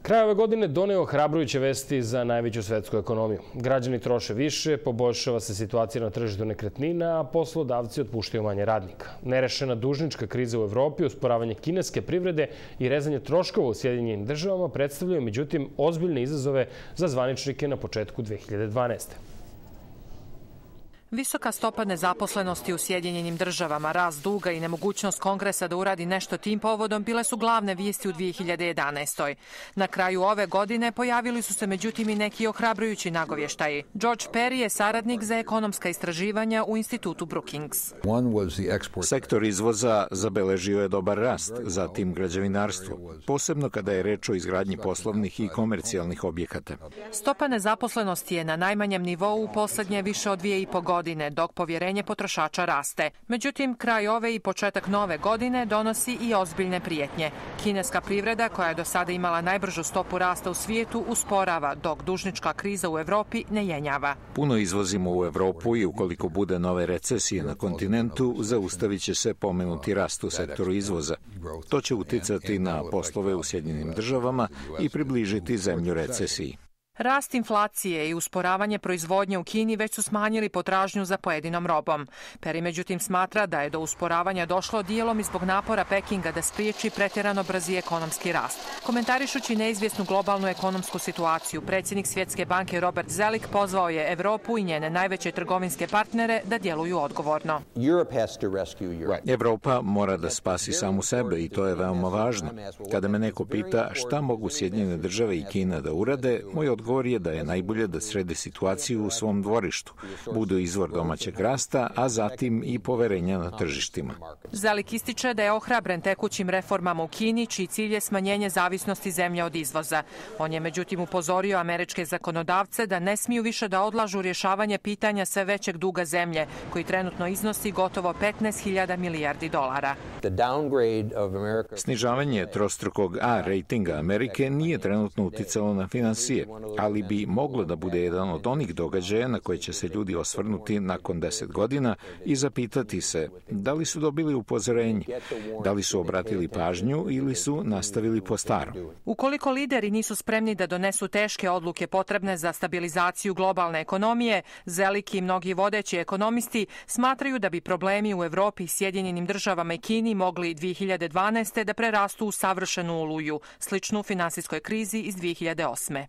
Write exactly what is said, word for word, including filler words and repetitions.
Kraj ove godine doneo ohrabrujuće vesti za najveću svetsku ekonomiju. Građani troše više, poboljšava se situacija na tržištu nekretnina, a poslodavci otpuštaju manje radnika. Nerešena dužnička kriza u Evropi, usporavanje kineske privrede i rezanje troškova u Sjedinjenim državama predstavljaju međutim ozbiljne izazove za zvaničnike na početku dve hiljade dvanaeste. Visoka stopa nezaposlenosti u Sjedinjenim državama, rast duga i nemogućnost Kongresa da uradi nešto tim povodom bile su glavne vijesti u dve hiljade jedanaestoj. Na kraju ove godine pojavili su se međutim i neki ohrabrujući nagovještaji. George Perry je saradnik za ekonomska istraživanja u institutu Brookings. Sektor izvoza zabeležio je dobar rast, zatim građevinarstvo, posebno kada je reč o izgradnji poslovnih i komercijalnih objekata. Stopa nezaposlenosti je na najmanjem nivou u poslednje više od dvije i po godine. godine, dok povjerenje potrošača raste. Međutim, kraj ove i početak nove godine donosi i ozbiljne prijetnje. Kineska privreda, koja je do sada imala najbržu stopu rasta u svijetu, usporava, dok dužnička kriza u Evropi ne jenjava. Puno izvozimo u Evropu i ukoliko bude nove recesije na kontinentu, zaustavit će se pomenuti rast u sektoru izvoza. To će uticati na poslove u Sjedinjenim državama i približiti zemlju recesiji. Rast inflacije i usporavanje proizvodnje u Kini već su smanjili potražnju za pojedinom robom. Perry međutim smatra da je do usporavanja došlo dijelom i zbog napora Pekinga da spriječi pretjerano brzi ekonomski rast. Komentarišući neizvjesnu globalnu ekonomsku situaciju, predsjednik Svjetske banke Robert Zoellick pozvao je Evropu i njene najveće trgovinske partnere da djeluju odgovorno. Evropa mora da spasi samu sebe i to je veoma važno. Kada me neko pita šta mogu Sjedinjene države i Kina da urade, moj odgovor Odgovor je da je najbolje da srede situaciju u svom dvorištu, budu izvor domaćeg rasta, a zatim i poverenja na tržištima. Zoellick ističe da je ohrabren tekućim reformama u Kini, čiji cilj je smanjenje zavisnosti zemlje od izvoza. On je međutim upozorio američke zakonodavce da ne smiju više da odlažu rješavanje pitanja sve većeg duga zemlje, koji trenutno iznosi gotovo petnaest hiljada milijardi dolara. Snižavanje trostrukog A rejtinga Amerike nije trenutno uticalo na finansije, ali bi moglo da bude jedan od onih događaja na koje će se ljudi osvrnuti nakon deset godina i zapitati se da li su dobili upozorenje, da li su obratili pažnju ili su nastavili po starom. Ukoliko lideri nisu spremni da donesu teške odluke potrebne za stabilizaciju globalne ekonomije, Zoellick i mnogi vodeći ekonomisti smatraju da bi problemi u Evropi, Sjedinjenim državama i Kini mogli dve hiljade dvanaeste. da prerastu u savršenu oluju, sličnu finansijskoj krizi iz dve hiljade osme.